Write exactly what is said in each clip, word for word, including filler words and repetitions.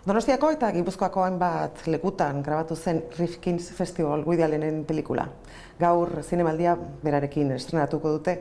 Donostiako eta Gipuzkoako hainbat lekutan grabatu zen Rifkin's Festival Woody Allenen pelikula. Gaur zinemaldia berarekin estrenatuko dute,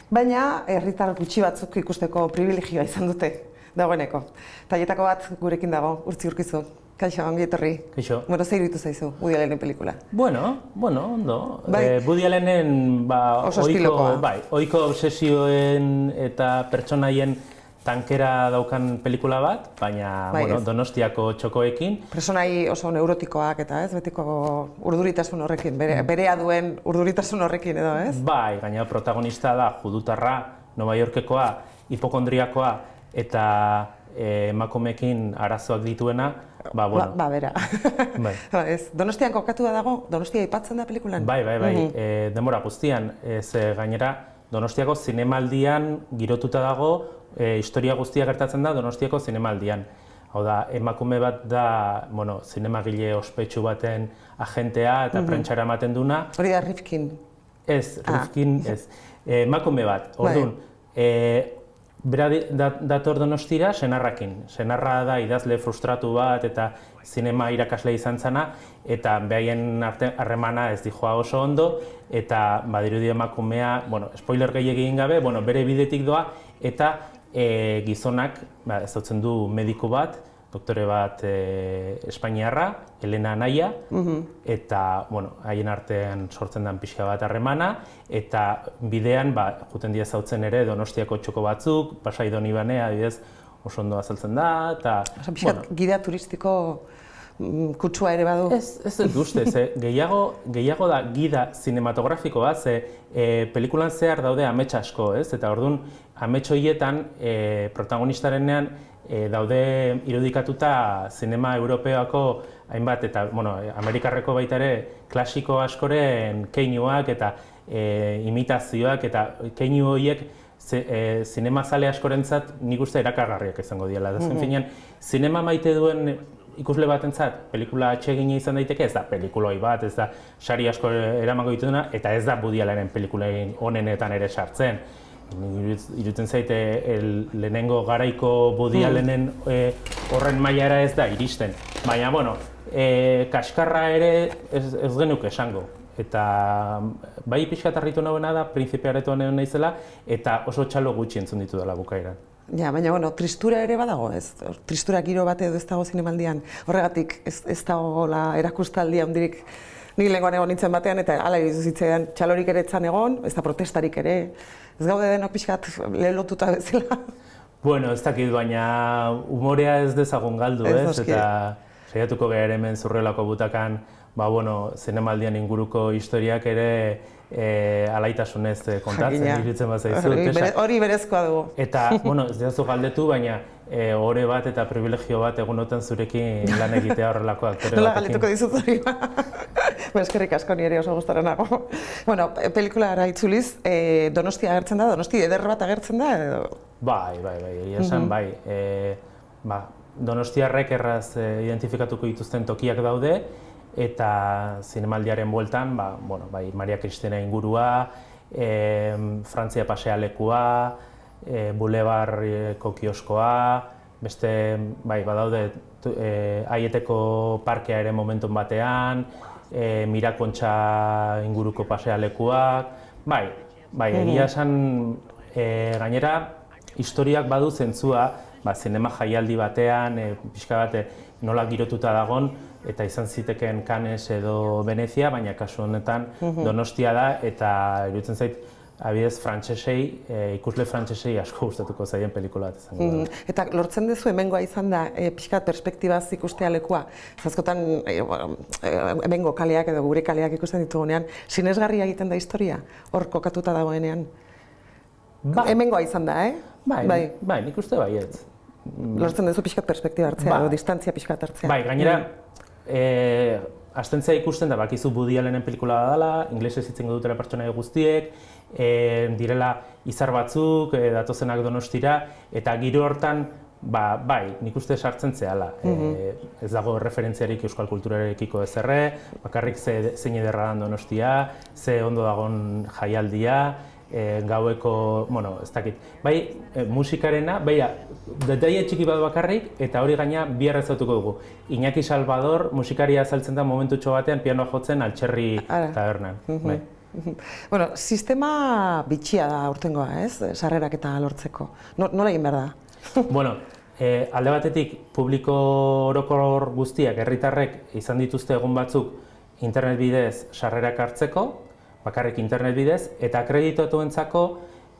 baina herritar gutxi batzuk ikusteko privilegioa izan dute dagoeneko. Taietako bat gurekin dago, Urtzi Urkizu. Kaixo, ongi etorri. Kaixo. Bueno, zer iruditu zaizu Woody Allenen pelikula? Bueno, bueno, ondo. Bai. Eh, Woody Allenen ba, Oso ohiko, estilokoa. bai, ohiko obsesioen eta pertsonaien tankera daukan pelikula bat, baina Bai, bueno, ez. Donostiako txokoekin. Personai oso neurotikoak eta ez, betiko urduritasun horrekin, bere, berea duen urduritasun horrekin edo, ez? Bai, gaina protagonista da judutarra, Nova Yorkekoa, hipokondriakoa eta eh, emakumeekin arazoak dituena, ba, bueno. Ba, ba bera. Bai. Ba, ez. Donostian kokatua dago, Donostia aipatzen da pelikulan? Bai, bai, bai, Mhm. eh, denbora guztian, ez eh, gainera Donostiako zinemaldian girotuta dago, e, historia guztia gertatzen da Donostiako zinemaldian. Hau da, emakume bat da, bueno, zinemagile ospetsu baten agentea eta prentxara ematen duna. Hori da Rifkin. Ez, Ah. Rifkin, ez. E, emakume bat, orduan, e, bera di- dat- dator Donostira senarrakin. Senarra da idazle frustratu bat eta zinema irakasle izan zana, eta behaien arte harremana ez dijoa oso ondo, eta badirudi emakumea, bueno, spoiler gehiegi egin gabe, bueno, bere bidetik doa, eta e, gizonak, ba, ezautzen du mediku bat, doktore bat e, Espainiarra, Elena Anaia, eta, bueno, haien artean sortzen den pixka bat harremana, eta bidean, ba, juten dira ezautzen ere Donostiako txoko batzuk, Pasai Donibane, adibidez, oso ondo azaltzen da, eta, Osa, pixkat, gidea turistiko mm, kutsua ere badu. Ez, ez dut uste, ze gehiago, gehiago da gida zinematografiko bat, ze e, pelikulan zehar daude amets asko, ez? Eta orduan, amets horietan e, protagonistarenean e, daude irudikatuta zinema europeoako hainbat, eta, bueno, Amerikarreko baita ere klasiko askoren keinuak eta e, imitazioak, eta keinu horiek ze, e, zinemazale askorentzat nik uste erakargarriak izango diela. Azken finean, zinema maite duen ikusle batentzat pelikula atsegina izan daiteke, ez da pelikuloi bat, ez da sari asko eramango dituna, eta ez da Woody Allenen pelikulein onenetan ere sartzen. Iruditzen zaite el, lehenengo garaiko Woody Allenen e, horren mailara ez da iristen. Baina, bueno, e, kaskarra ere ez, ez genuke esango. Eta bai pixkat harritu nagoena da, Printzipia aretoan egon naizela, eta oso txalo gutxi entzun ditu dela bukaeran. Ja, baina, bueno, tristura ere badago, ez? Tristura giro bat edo ez dago zinemaldian. Horregatik, ez, ez dago la erakustaldia handirik. Nik lehengoan egon nintzen batean, eta hala irizu zitzaidan txalorik ere etzan egon, ez da protestarik ere. Ez gaude denok pixkat lehelotuta bezala. Bueno, ez dakit, baina umorea ez dezagun galdu, Ez, ez? noski. Eta saiatuko gara hemen Zurrelako butakan, ba, bueno, zinemaldian inguruko historiak ere e, alaitasunez eh, kontatzen, Jakina. iruditzen bat zaizu. Hori, Tesa. bere- hori berezkoa dugu. Eta, bueno, ez diazu galdetu, baina e, ore bat eta privilegio bat egunotan zurekin lan egitea horrelako aktore Nola batekin. galdetuko dizut hori ba. Ba, eskerrik asko ni ere oso gustara nago. Bueno, pelikulara itzuliz, eh, Donostia agertzen da, Donosti eder bat agertzen da edo? Bai, bai, bai, egia esan, bai. E, ba, Donostiarrek erraz e, identifikatuko dituzten tokiak daude, eta zinemaldiaren bueltan, ba, bueno, bai, Maria Cristina ingurua, e, Frantzia pasealekua, e, Bulebarreko kioskoa, beste, bai, badaude, tu- e, Aieteko parkea ere momentun batean, e, Mirakontxa inguruko pasealekuak, bai, bai, egia esan, e, gainera, historiak badu zentzua, ba, zinema jaialdi batean, e, pixka bat e, nola girotuta dagon, eta izan zitekeen Cannes edo Venezia, baina kasu honetan Donostia da, eta iruditzen zait, abidez frantsesei, e, ikusle frantsesei asko gustatuko zaien pelikula bat izango da. Mm, Eta lortzen duzu hemengoa izan da, e, pixkat perspektibaz ikustea lekua. Zazkotan, e, bueno, e, hemengo kaleak edo gure kaleak ikusten ditugunean, sinesgarria egiten da historia, hor kokatuta dagoenean. Ba, Hemengoa izan da, eh? bai, bai, bai, nik uste baietz. Lortzen duzu pixkat perspektiba hartzea, Ba. edo distantzia pixkat hartzea. Bai, gainera, eh, hastentzea ikusten da, bakizu Woody Allenen pelikula da dela, inglesez hitz egingo dutela pertsonaia guztiek, eh, direla izar batzuk, eh, datozenak Donostira, eta giro hortan, ba, bai, nik uste sartzen zehala. eh, ez dago referentziarik euskal kulturarekiko ezerre, bakarrik ze, zein ederra dan Donostia, ze ondo dagon jaialdia, e, gaueko, bueno, ez dakit. Bai, e, musikarena, bai, detaile txiki bat bakarrik, eta hori gaina bihar ezautuko dugu. Iñaki Salvador musikaria azaltzen da momentutxo batean pianoa jotzen Altxerri tabernan. Bai. Bueno, sistema bitxia da aurtengoa, ez? Sarrerak eta lortzeko. Nola egin behar da? Bueno, e, alde batetik, publiko orokor guztiak, herritarrek izan dituzte egun batzuk internet bidez sarrerak hartzeko, bakarrik internet bidez, eta akreditatuentzako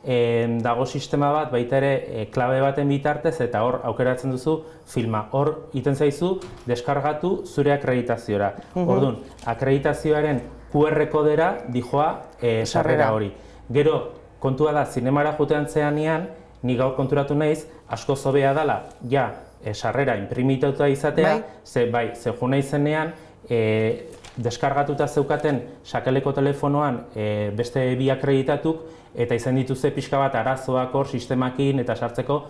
e, dago sistema bat, baita ere, e, klabe baten bitartez, eta hor aukeratzen duzu filma. Hor iten zaizu, deskargatu zure akreditaziora. Uh-huh. Orduan, akreditazioaren Q R kodera dijoa e, sarrera hori. Gero, kontua da, zinemara jotean zeanean, ni gaur konturatu naiz, asko zobea dela, ja, e, sarrera imprimituta izatea, bai, ze, bai, ze jo naizenean, e, deskargatuta zeukaten sakeleko telefonoan e, beste bi akreditatuk, eta izan dituzte pixka bat arazoak hor sistemakin eta sartzeko,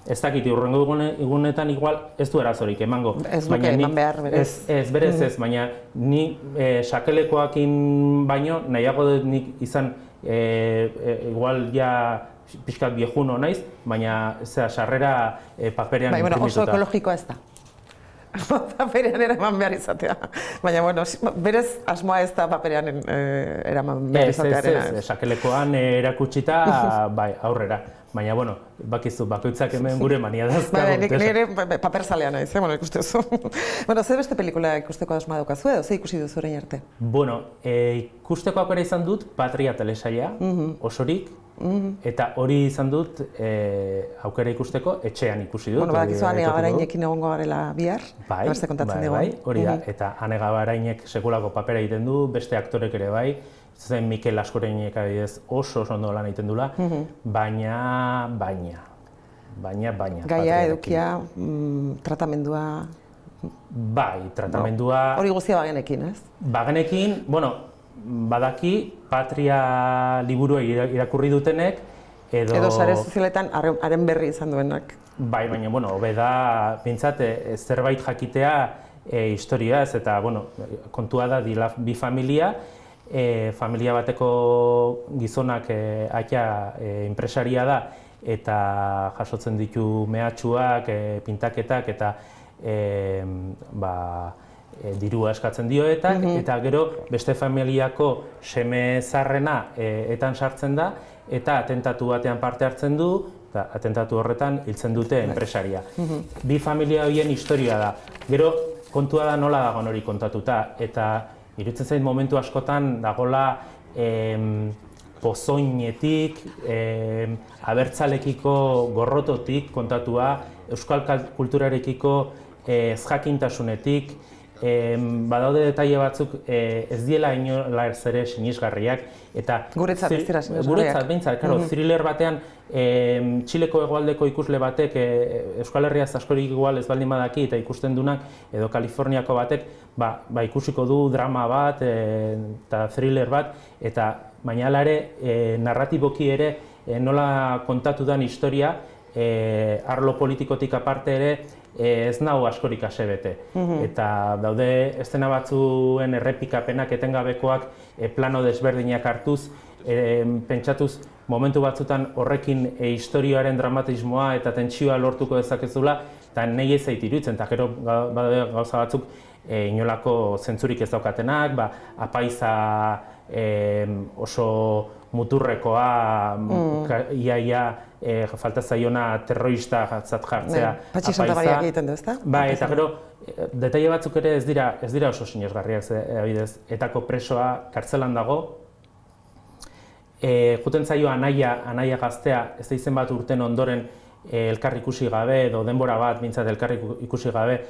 ez dakit, urrengo egunetan igual ez du arazorik emango. Ez duke eman behar, berez. Ez, ez berez ez, baina ni e, sakelekoakin baino nahiago dut nik izan e, e, igual ja pixkat viejuno naiz, baina zera, sarrera e, paperean bai, bueno, imprimituta. Oso ekologikoa ez da. Paperean eraman behar izatea. Baina, bueno, berez asmoa ez da paperean eraman behar izatearena. Ez, ez, ez, sakelekoan erakutsita, bai, aurrera. Baina, bueno, bakizu, bakoitzak hemen gure mania dazka. Bai, nire paper zalea naiz, bueno, ikustezu. Bueno, zer beste pelikula ikusteko asmoa daukazu edo, zer ikusi duzu orain arte? Bueno, ikusteko aukera izan dut Patria telesaila, osorik, eta hori izan dut aukera ikusteko etxean ikusi dut. Bueno, badakizu Ane Gabarainekin egongo garela bihar, beste kontatzen dugu. Bai, hori da, eta Ane Gabarainek sekulako papera egiten du, beste aktorek ere bai, zen Mikel Askoreinek adibidez oso oso ondo lan egiten dula, baina, baina, baina, baina. Gaia, edukia, tratamendua... Bai, tratamendua... Hori guztia bagenekin, ez? Bagenekin, bueno, badaki Patria liburua irakurri dutenek, edo... Edo sare sozialetan haren berri izan duenak. Bai, baina, bueno, hobe da, bintzat, zerbait jakitea historiaz, eta, bueno, kontua da bi familia, E, familia bateko gizonak e, aita e, enpresaria da eta jasotzen ditu mehatxuak, e, pintaketak eta e, ba, e, dirua eskatzen dioetak, mm-hmm. eta gero beste familiako seme zarrena e, etan sartzen da eta atentatu batean parte hartzen du eta atentatu horretan hiltzen dute enpresaria. Mm-hmm. Bi familia horien historia da. Gero kontua da nola dagoen hori kontatuta eta iruditzen zait momentu askotan dagoela em, pozoinetik, em, abertzalekiko gorrototik kontatua, euskal kulturarekiko eh, ezjakintasunetik, em, badaude detaile batzuk eh, ez diela inola ere sinisgarriak, eta guretzat ez dira sinisgarriak. Guretzat, behintzat, karo, mm-hmm. thriller batean em, Txileko hegoaldeko ikusle batek e, Euskal Herriaz askorik igual ez baldin badaki eta ikusten dunak, edo Kaliforniako batek, ba, ba ikusiko du drama bat e, eta thriller bat, eta baina hala ere, e, narratiboki ere e, nola kontatu den historia, e, arlo politikotik aparte ere, e, ez nau askorik asebete. Mm-hmm. Eta daude eszena batzuen errepikapenak etengabekoak e, plano desberdinak hartuz, e, pentsatuz momentu batzutan horrekin e, historioaren dramatismoa eta tentsioa lortuko dezakezula, eta nahi ez zait iruditzen, eta gero gauza batzuk e, inolako zentzurik ez daukatenak, ba, apaiza e, oso muturrekoa, mm. iaia e, falta zaiona terrorista zat jartzea. Patxi Santamaria egiten du, ezta? Ba, eta gero, detaile batzuk ere ez dira, ez dira oso sinesgarriak, adibidez, etako presoa kartzelan dago, E, juten zaio anaia, anaia gaztea, ez da izen bat urten ondoren e, elkar ikusi gabe, edo denbora bat bintzat elkar ikusi gabe,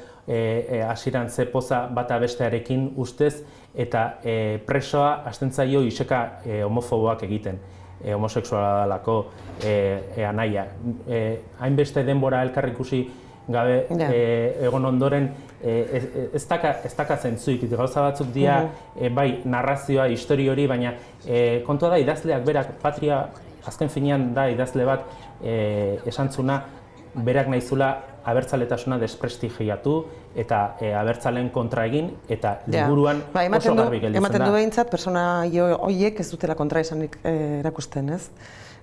hasieran e, e, ze poza bata bestearekin ustez, eta e, presoa hasten zaio iseka e, homofoboak egiten, e, homosexuala dalako e, e, anaia. E, hainbeste denbora elkar ikusi gabe yeah. e, egon ondoren, e, ez daka, ez daka zentzuik, gauza batzuk dira, mm-hmm. e, bai, narrazioa, histori hori, baina e, kontua da idazleak berak, Patria, azken finean da idazle bat, e, esantzuna, berak naizula abertzaletasuna desprestigiatu eta e, abertzaleen kontra egin eta liburuan ba, oso garbi gelditzen da. Ematen du behintzat, persona horiek ez dutela kontraesanik eh, erakusten, ez?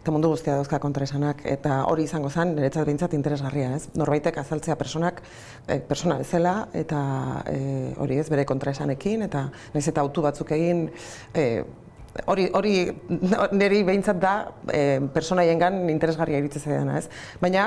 Eta mundu guztia dauzka kontraesanak, eta hori izango zen, niretzat behintzat interesgarria, ez? Norbaitek azaltzea personak, eh, persona bezala, eta eh, hori ez, bere kontraesanekin, eta nahiz eta autu batzuk egin, eh, Hori, hori niri behintzat da e, personaiengan interesgarria iritsi zaidana, ez? Baina,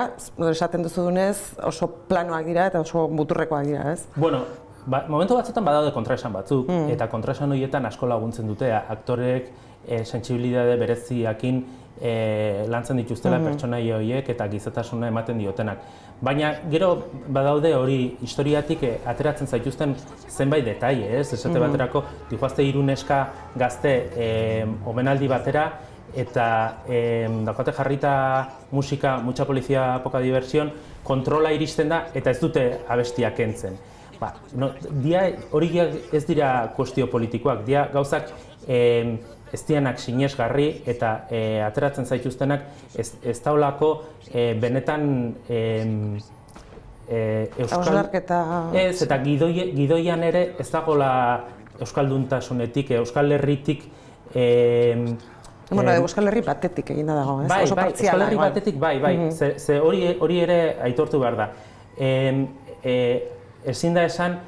esaten duzu dunez, oso planoak dira eta oso muturrekoak dira, ez? Bueno, ba, momentu batzuetan badaude kontraesan batzuk, mm. eta kontraesan horietan asko laguntzen dute, aktorek e, sentsibilitate bereziakin e, lantzen dituztela mm. pertsonai horiek eta gizatasuna ematen diotenak. Baina gero badaude hori historiatik e, ateratzen zaituzten zenbait detaile, ez? Esate mm. baterako, dihoazte hiru neska gazte e, omenaldi batera eta e, daukate jarrita musika, mucha polizia, poca diversión, kontrola iristen da eta ez dute abestiak kentzen. Ba, no, dia, hori ez dira kuestio politikoak, dia gauzak e, ez dianak sinesgarri eta e, ateratzen zaituztenak ez, ez daulako e, benetan e, e, euskal... Ez, eta gidoi, gidoian ere ez dagoela euskalduntasunetik, euskal herritik e, Bueno, Euskal Herri batetik egin dago, ez? Bai, Oso bai, Euskal Herri igual. batetik, bai, bai, mm-hmm. ze, ze hori, hori ere aitortu behar da. E, e, ezin da esan,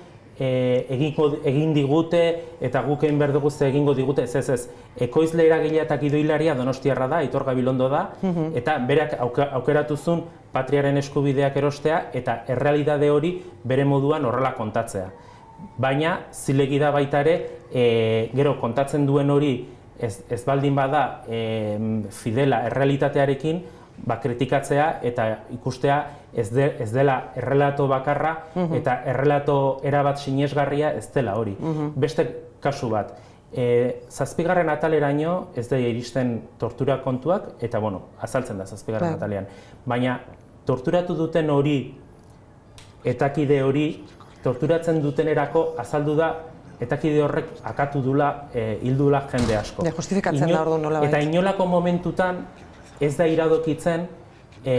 E, egingo, egin digute eta guk egin behar dugu ze egingo digute, ez ez ez. Ekoizle eragilea eta gidoilaria Donostiarra da, Aitor Gabilondo da, mm-hmm. eta berak aukeratuzun patriaren eskubideak erostea eta errealitate hori bere moduan horrela kontatzea. Baina, zilegi da baita ere, e, gero kontatzen duen hori ez, ez baldin bada e, fidela errealitatearekin, ba, kritikatzea eta ikustea ez, de, ez dela errelato bakarra mm-hmm. eta errelato erabat sinesgarria ez dela hori. Mm-hmm. Beste kasu bat, e, zazpigarren ataleraino ez da iristen tortura kontuak eta bueno, azaltzen da zazpigarren Ba. atalean. Baina torturatu duten hori, etakide hori, torturatzen dutenerako azaldu da etakide horrek akatu dula, e, hildula jende asko. Ja, justifikatzen Ino, da ordu nola Eta inolako momentutan ez da iradokitzen e,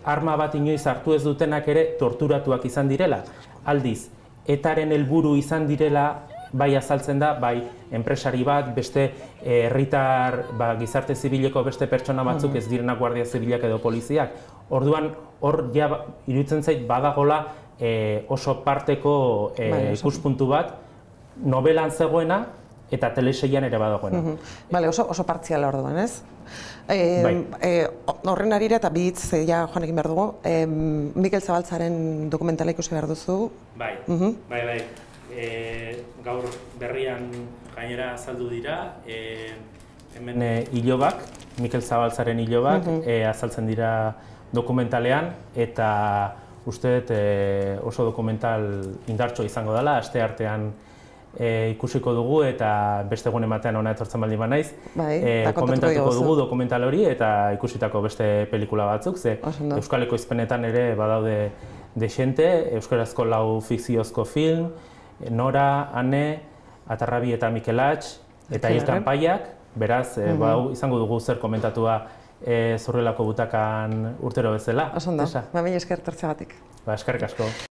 arma bat inoiz hartu ez dutenak ere torturatuak izan direla. Aldiz, etaren helburu izan direla, bai azaltzen da, bai enpresari bat, beste herritar ba, gizarte zibileko beste pertsona batzuk ez direnak guardia zibilak edo poliziak. Orduan, hor ja iruditzen zait badagola e, oso parteko e, bai, ikuspuntu bat, novelan zegoena, eta teleseian ere badagoena. Mm-hmm. Bale, oso, oso partziala orduan, ez? E, bai. e, horren arira eta bi hitz ja joan egin behar dugu, e, Mikel Zabaltzaren dokumentala ikusi behar duzu. Bai, mm-hmm. bai, bai. E, gaur berrian gainera azaldu dira, e, hemen e, ilobak, Mikel Zabaltzaren ilobak, mm-hmm. e, azaltzen dira dokumentalean, eta uste dut e, oso dokumental indartxo izango dela, aste artean E, ikusiko dugu eta beste egun ematean hona etortzen baldin banaiz. Bai, e, komentatuko dugu dokumental hori eta ikusitako beste pelikula batzuk, ze Euskal Ekoizpenetan ere badaude dexente, euskarazko lau fikziozko film, Nora, Ane, Atarrabi eta Mikelatx, eta Hilkan Paiak, beraz, e, mm-hmm. bau, izango dugu zer komentatua e, Zurrelako butakan urtero bezala. Oso ondo, ba, mila esker tortzeagatik. Ba, eskerrik asko.